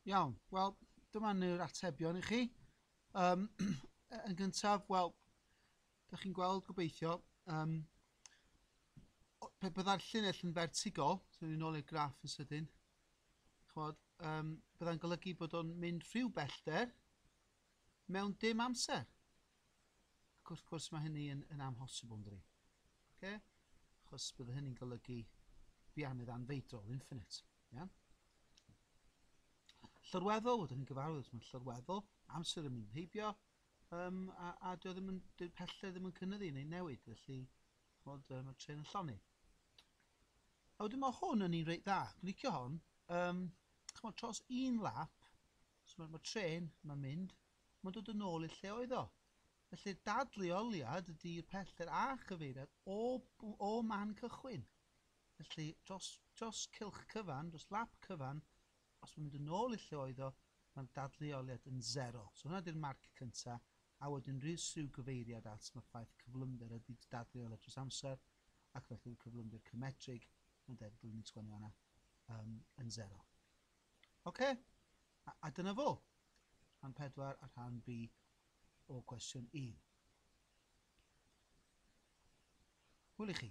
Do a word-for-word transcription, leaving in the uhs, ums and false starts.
Iawn, wel, dyma ni'r atebion i chi. Um, yn gyntaf, wel, da chi'n gweld gobeithio, um, pe byddai'r llinell yn fertigol, so ni'n ôl i'r graff yn sydyn, ch'mod, um, byddai'n golygu bod o'n mynd rhyw bellter mewn dim amser. Ac wrth gwrs mae hynny yn, yn amhosibl, yn dydi? Okay? Achos bydde hynny'n golygu bianydd anfeidrol, infinite. Yeah? Llorweddol, wedyn ni'n gyfarwydd, mae'n llorweddol, amser yn mynd heibio, um, a, a dio ddim yn, dyw'r pellter ddim yn cynyddu neu newid, felly ch'mod, um, mae'r trên yn llonni. A wedyn mae hwn yn un reit dda. Dwi'n licio hon. Um, ch'mod, dros un lap, so mae'r ma trên mae'n mynd, mae'n dod yn ôl i'r lle oedd o. Felly dadleoliad ydy'r pellter a chyfeiriad o, o man cychwyn. Felly dros, dros cylch cyfan, dros lap cyfan, os mae'n mynd yn ôl i'r lle oedd o, mae'r dadleoliad yn zero. So hwnna ydy'r marc cyntaf, a wedyn rhyw syw gyfeiriad at mae'r ffaith cyflymder ydy dadleoliad dros amser, ac felly cyflymder cymedrig, mae'n debyg dwi'n sgwennu fan'na, um, yn zero. Oce, a, a dyna fo. Rhan pedwar a rhan B o cwestiwn un. Hwyl i chi.